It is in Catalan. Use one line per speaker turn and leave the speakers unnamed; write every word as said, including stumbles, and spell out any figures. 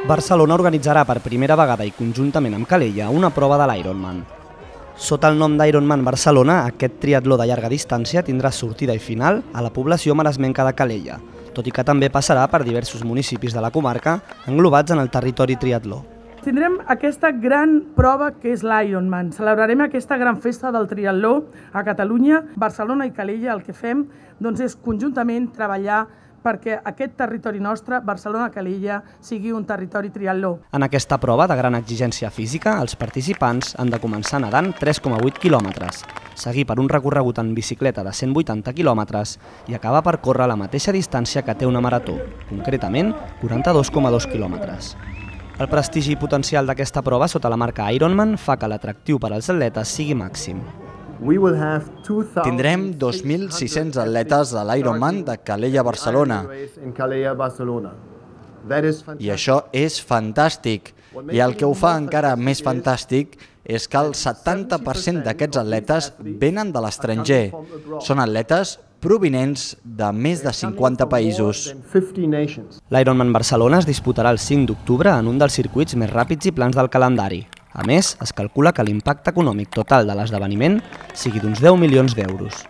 Barcelona organitzarà per primera vegada i conjuntament amb Calella una prova de l'Ironman. Sota el nom d'Ironman Barcelona, aquest triatló de llarga distància tindrà sortida i final a la població maresmenca de Calella, tot i que també passarà per diversos municipis de la comarca englobats en el territori triatló.
Tindrem aquesta gran prova que és l'Ironman. Celebrarem aquesta gran festa del triatló a Catalunya. Barcelona i Calella el que fem doncs, és conjuntament treballar perquè aquest territori nostre, Barcelona-Calella, sigui un territori triatló.
En aquesta prova de gran exigència física, els participants han de començar nedant tres coma vuit quilòmetres, seguir per un recorregut en bicicleta de cent vuitanta quilòmetres i acabar per córrer la mateixa distància que té una marató, concretament quaranta-dos coma dos quilòmetres. El prestigi i potencial d'aquesta prova sota la marca Ironman fa que l'atractiu per als atletes sigui màxim.
Tindrem dos mil sis-cents atletes a l'Ironman de Calella a Barcelona. I això és fantàstic. I el que ho fa encara més fantàstic és que el setanta per cent d'aquests atletes venen de l'estranger. Són atletes provinents de més de cinquanta països.
L'Ironman Barcelona es disputarà el cinc d'octubre en un dels circuits més ràpids i plans del calendari. A més, es calcula que l'impacte econòmic total de l'esdeveniment sigui d'uns deu milions d'euros.